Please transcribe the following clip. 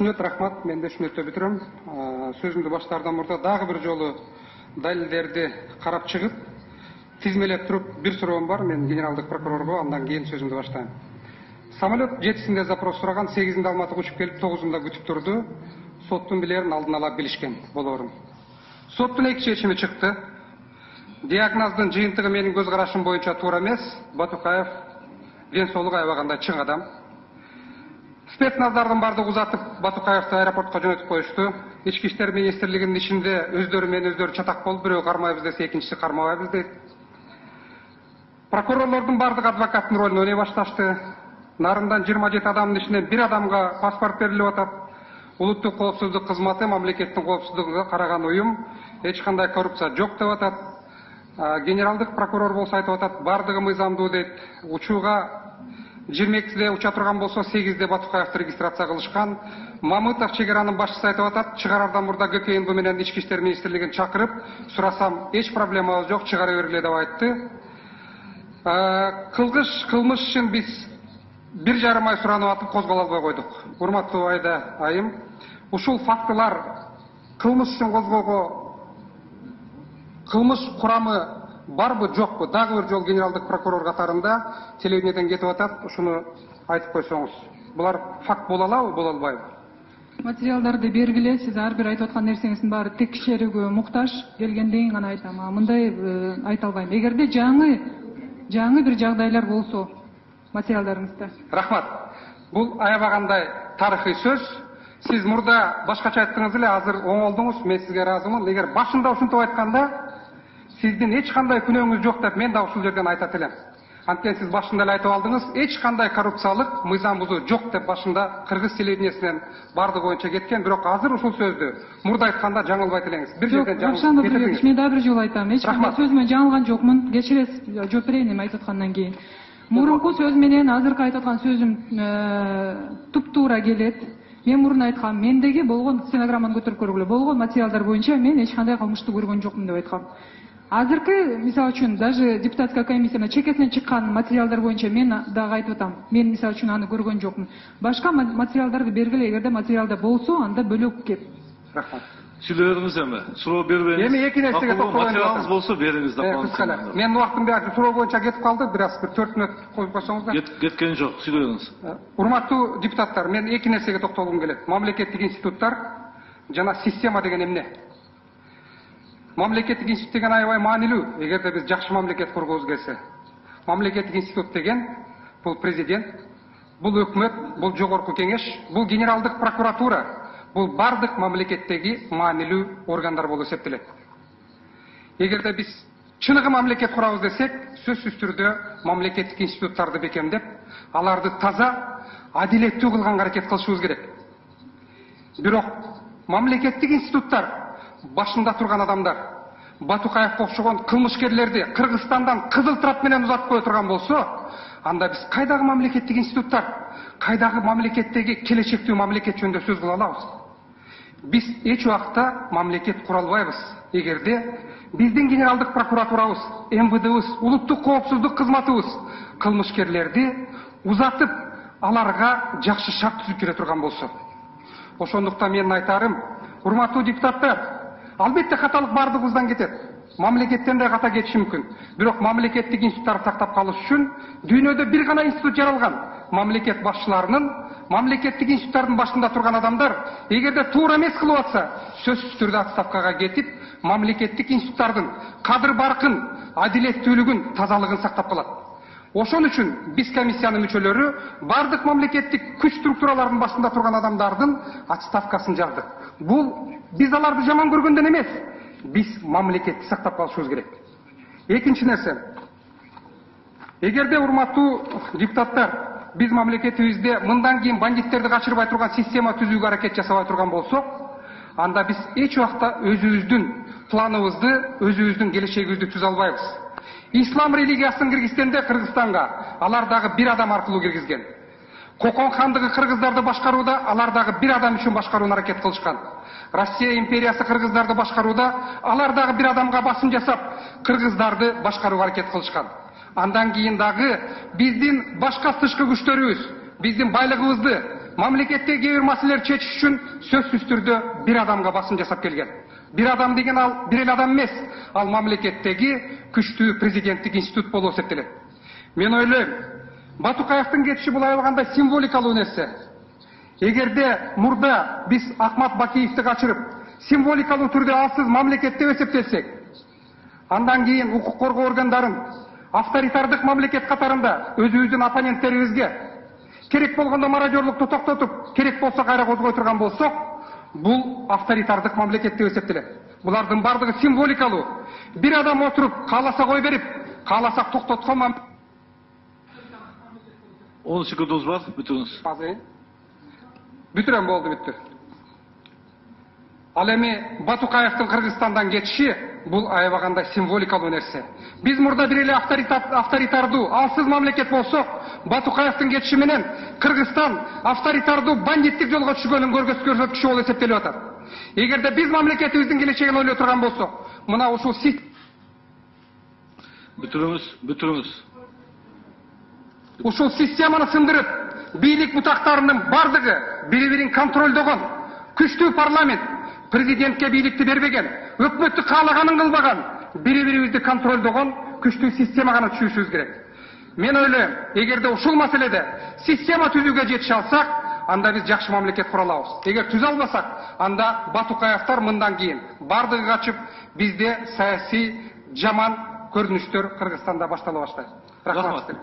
түшүнөт, рахмат. Мен да түшүнөтүп бүтүрөм. Сөзүмдү баштаардан мурда дагы бир жолу далилдерди карап чыгып, тизмелеп туруп бир суроом бар. Мен генералдык прокурорго андан кийин сөзүмдү баштайм. Самолет 7-синде запрос сураган, 8-inde Алматыга учуп келип, 9-unda күтүп турду. Соттун билерин алдын ала билишкен болорун. Соттун эки чечими чыкты. Диагноздун жыйынтыгы менин көз карашым боюнча туура эмес. Батукаев ден соолугу аябагандай чың адам. Спецназдардын бардыгы узатып Батукаевди аэропортко жөнөтүп коюшту. Ички иштер министрлигинин ичинде өздөрү менен өздөрү чатак болуп, бирөө кармайбыз десе, экинчиси кармабайбыз дейт. Прокурорлордун бардыгы адвокаттын ролун ойной башташты. Нарындан 27 адамдын ичинен бир адамга паспорт берилип атат. Улуттук коопсуздук кызматы мамлекеттин коопсуздугуна караган уюм, эч кандай коррупция жок деп атат. Генералдык прокурор болсо айтып атат, бардыгы мыйзамдуу дейт. Учууга 22-де уча турган болсо, 8-де Батукаевди регистрация кылышкан. Мамытов чек аранын башчысы айтып атат, чыгарардан мурда ГКНБ менен Ички иштер министрлигин чакырып, сурасам, эч проблемабыз жок, чыгара бергиле деп айтты. Кылмыш үчүн биз 1,5 ай суранып атып козголо албай койдук. Урматтуу Айда айым, ушул фактылар кылмыш үчүн козголго кылмыш курамы барбы, жокпу? Дагы бир жол генералдык прокурор катарында телевидениеден кетип атат, ушуну айтып койсоңуз. Булар факт боло алабы, боло албайбы? Материалдарды бергиле, сиз ар бир айтып аткан нерсеңиздин баары текшерүүгө муктаж, келгенден кийин гана айтам. Мындай айта албайм. Эгерде жаңы бир жагдайлар болсо материалдарыңызда. Рахмат. Бул аябагандай тарыхый сөз. Сиз мурда башкача айттыңыз эле, азыр оңолдуңуз, мен сизге ыраазымын. Эгер башында ушинтип айтканда, сиздин эч кандай күнөөңүз жок деп мен да ушул жерден айтат элем. Анткени сиз башында эле айтып алдыңыз, эч кандай коррупциялык мыйзам бузуу жок деп башында кыргыз телевидениесинен бардыгы боюнча кеткен, бирок азыр ушул сөздү мурда айтканда жаңылбайт элеңиз. Бир жерден жаңылып. Мен дагы бир жолу айтам. Эч кандай сөзүмөн жаңылган жокмун. Кечиресиз, жооп берейин эми айтып аткандан кийин. Мурунку сөз менен азыркы айтып аткан сөзүм туптуура келет. Мен мурун айткам, мендеги болгон стенограмманы көтөрүп көргүлө. Болгон материалдар боюнча мен эч кандай кылмышты көргөн жокмун деп айткам. Азыркы, мисалы үчүн, даже депутатская комиссияна чекесинен чыккан материалдар боюнча мен дагы айтып атам. Мен мисалы үчүн аны көргөн жокмун. Башка материалдарды бергиле, эгерде материалда болсо, анда бөлөк кеп. Рахмат. Сүйлөдүңүз эми. Суроо бербейсиз. Эми эки нерсеге токтолгон материалыңыз болсо бериңиз да. Менин убактым суроо боюнча кетип калды, бир 4 мүнөт коюп койсоңуздар. Кеткен жок, сүйлөдүңүз. Урматтуу депутаттар, мен эки нерсеге токтолгум келет. Мамлекеттик институттар жана система деген эмне? Мамлекеттик институт деген аябай маанилүү, эгерде биз жакшы мамлекет кургубуз келсе. Мамлекеттик институт деген бул президент, бул өкмөт, бул жогорку кеңеш, бул генералдык прокуратура, бул бардык мамлекеттеги маанилүү органдар болуп эсептелет. Эгерде биз чыныгы мамлекет курабыз десек, сөзсүз түрдө мамлекеттик институттарды бекемдеп, аларды таза, адилеттүү кылганга аракет кылышыбыз керек. Бирок мамлекеттик институттар башында турган адамдар Батукаевге окшогон кылмышкерлерди Кыргызстандан кызыл трап менен узатып кое турган болсо, анда биз кайдагы мамлекеттик институттар, кайдагы мамлекеттеги келечектүү мамлекет жөнүндө сөз кыла алабыз? Биз эч убакта мамлекет кура албайбыз, эгерде биздин генералдык прокуратурабыз, МВДбыз, улуттук коопсуздук кызматыбыз кылмышкерлерди узатып, аларга жакшы шарт түзүп бере турган болсо. Ошондуктан менин айтарым, урматтуу депутаттар, албетте каталык бардыгыбыздан кетет. Мамлекеттен да ката кетиши мүмкүн. Бирок мамлекеттик институттарды сактап калыш үчүн дүйнөдө бир гана институт жаралган. Мамлекет башчыларынын, мамлекеттик институттардын башында турган адамдар, эгерде туура эмес кылып атса, сөзсүз түрдө отставкага кетип, мамлекеттик институттардын кадыр баркын, адилеттүүлүгүн, тазалыгын сактап калат. Ошон үчүн биз комиссиянын мүчөлөрү бардык мамлекеттик күч структураларынын башында турган адамдардын отставкасын жардык. Бул биз аларды жаман көргөндөн эмес, биз мамлекетти сактап калышыбыз керек. Экинчи нерсе, эгерде урматтуу депутаттар, биз мамлекетибизде мындан кийин бандиттерди качырбай турган система түзүүгө аракет жасабай турган болсок, анда биз эч убакта өзүбүздүн планыбызды, өзүбүздүн келечегибизди түзө албайбыз. Ислам религиясын киргизгенде Кыргызстанга алар дагы бир адам аркылуу киргизген. Кокон хандыгы кыргыздарды башкарууда алар дагы бир адам үчүн башкарууна аракет кылышкан. Россия империясы кыргыздарды башкарууда алар дагы бир адамга басым жасап, кыргыздарды башкарууга аракет кылышкан. Андан кийин дагы биздин башка тышкы күчтөрүбүз, биздин байлыгыбызды, мамлекеттеги кээ бир маселелерди чечиш үчүн сөзсүз түрдө бир адамга басым жасап келген. Бир адам деген ал бир эле адам эмес, ал мамлекеттеги күчтүү президенттик институт болуп эсептелет. Мен ойлойм, Батукаевдин кетиши бул аябагандай символикалуу нерсе. Эгерде мурда биз Акмат Бакиевди качырып, символикалуу түрдө алсыз мамлекет деп эсептесек, андан кийин укук коргоо органдарын авторитардык мамлекет катарында өзүбүздүн оппоненттерибизге керек болгондо мародерлукту токтотуп, керек болсо кайра козгой турган болсок, бул авторитардык мамлекет деп эсептелет. Булардын бардыгы символикалуу. Бир адам отуруп, кааласа кой берип, кааласак токтоткон 10 секундубуз бар, бүтүрүңүз. Бүтүрөм, болду, бүттү. Ал эми Батукаевдин Кыргызстандан кетиши бул аябагандай символикалуу нерсе. Биз мурда бир эле авторитардуу, алсыз мамлекет болсок, Батукаевдин кетиши менен Кыргызстан авторитардуу бандиттик жолго түшкөнүн көрсөткүчү болуп эсептелип атат. Эгерде биз мамлекетибиздин келечегин ойлой турган болсок, мына ушул Бүтүрүңүз. Ушул системаны сындырып, бийлик бутактарынын бардыгы бири-бирин контролдогон, күчтүү парламент, президентке бийликти бербеген, өкмөттү каалаганын кылбаган, бири-бирибизди контролдогон күчтүү система гана түзүшүбүз керек. Мен ойлойм, эгерде ушул маселеде система түзүүгө жетише алсак, анда биз жакшы мамлекет кура алабыз. Эгер түзө албасак, анда Батукаевдер мындан кийин бардыгы качып, бизде саясий жаман көрүнүштөр Кыргызстанда баштала баштайт. Рахмат.